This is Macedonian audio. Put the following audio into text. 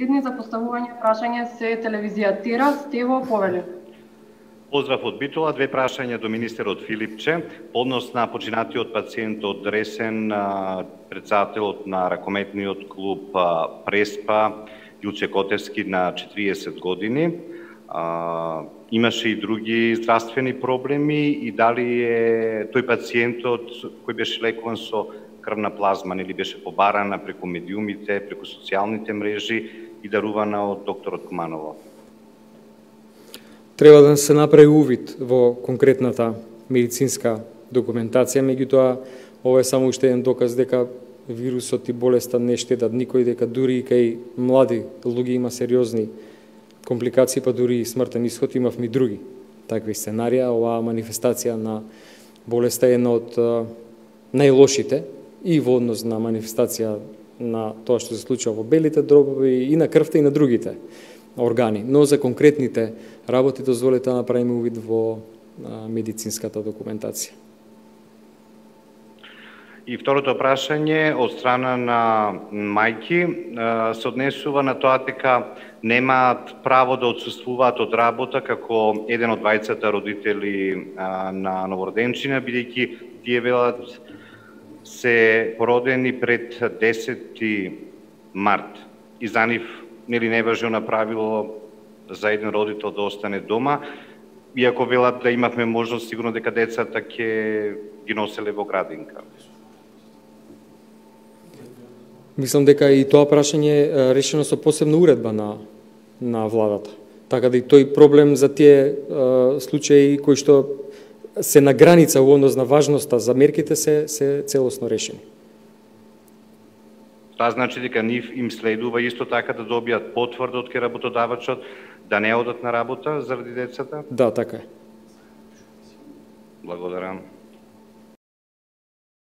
последни за поставување прашање се телевизија Тера, Стево Повели. Поздрав од Битола, две прашања до министерот Филипче. По однос на починатиот пациент од Дресен, председателот на ракометниот клуб Преспа, Јуце Котевски на 40 години. Имаше и други здравствени проблеми и дали е тој пациентот кој беше лекуван со крвна плазма, нели беше побарана преку медиумите, преку социјалните мрежи и дарувана од докторот Куманово? Треба да се направи увид во конкретната медицинска документација, меѓутоа ова е само уште еден доказ дека вирусот и болеста не штедат никој, дека дури и кај млади луѓе има сериозни компликации, па дури и смртен исход. Имавме и други такви сценарија. Оваа манифестација на болеста е една од најлошите и во однос на манифестација на тоа што се случува во белите дробови и на крвта и на другите органи. Но за конкретните работи дозволете да направиме увид во медицинската документација. И второто прашање од страна на мајки се однесува на тоа дека немаат право да отсуствуваат од работа како еден од двајцата родители на новороденчина, бидејќи тие велат се породени пред 10 март. И за нив нели не важи она правило за еден родител да остане дома, иако велат да имавме можност сигурно дека децата ќе ги носеле во градинка. Мислам дека и тоа прашање е решено со посебна уредба на владата. Така да и тој проблем за тие случаи кои што се на граница во однос на важноста за мерките се целосно решени. Тоа значи дека нив им следува исто така да добијат потврда од кај работодавачот да не одат на работа заради децата? Да, така е. Благодарам.